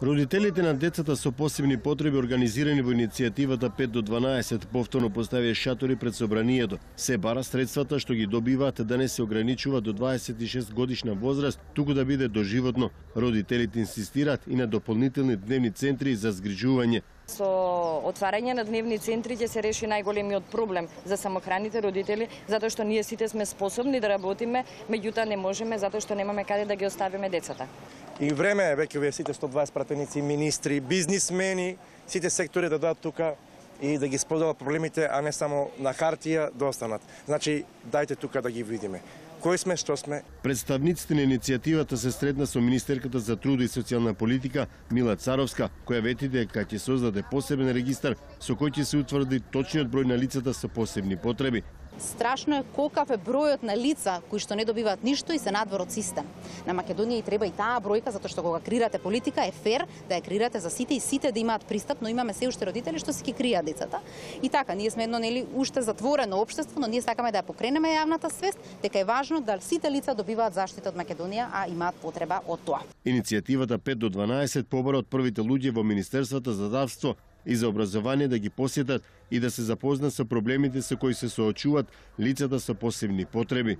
Родителите на децата со посебни потреби, организирани во иницијативата 5 до 12, повторно поставија шатори пред собранието. Се бара средствата што ги добиваат да не се ограничува до 26 годишна возраст, туку да биде доживотно. Родителите инсистираат и на дополнителни дневни центри за згрижување. Со отварање на дневни центри ќе се реши најголемиот проблем за самохраните родители, затоа што ние сите сме способни да работиме, меѓутоа не можеме затоа што немаме каде да ги оставиме децата. И време е веќе овие сите 120 пратеници, министри, бизнисмени, сите сектори да дадат тука и да ги споделат проблемите, а не само на хартија да останат. Значи, дајте тука да ги видиме. Кои сме, што сме? Представниците на иницијативата се сретна со министерката за труд и социјална политика Мила Царовска, која вети дека ќе создаде посебен регистар со кој ќе се утврди точниот број на лицата со посебни потреби. Страшно е колкав е бројот на лица кои што не добиваат ништо и се надвор од систем. На Македонија и треба и таа бројка, затоа што кога креирате политика е фер да ја креирате за сите и сите да имаат пристап, но имаме се уште родители што си ги кријат децата. И така, ние сме едно нели уште затворено општество, но ние сакаме да ја покренеме јавната свест дека е важно да сите лица добиваат заштита од Македонија, а имаат потреба од тоа. Иницијативата 5 до 12 побара од првите луѓе во Министерството за здравство и за образование да ги посетат и да се запознаат со проблемите со кои се соочуваат лицата со посебни потреби.